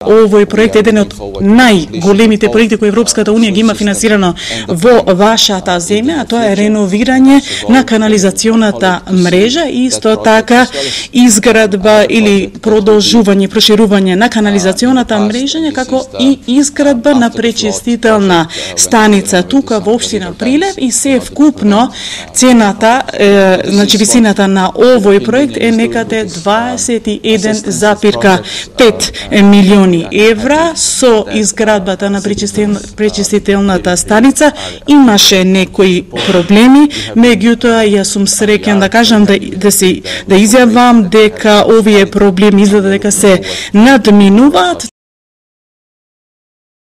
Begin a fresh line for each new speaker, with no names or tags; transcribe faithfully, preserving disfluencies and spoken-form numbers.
Овој проект е еден од најголемите проекти кои Европската унија ги има финансирано во вашата земја, а тоа е реновирање на канализационата мрежа и исто така изградба или продолжување, проширување на канализационата мрежа, како и изградба на пречистителна станица тука во општина Прилеп и се вкупно цената, е, значи висината на овој проект е некаде дваесет и еден запирка пет милиони евра. Со изградбата на пречистителната станица имаше некои проблеми, меѓутоа јас сум среќен да кажам да да се да изјавам дека овие проблеми изгледа дека се надминуваат.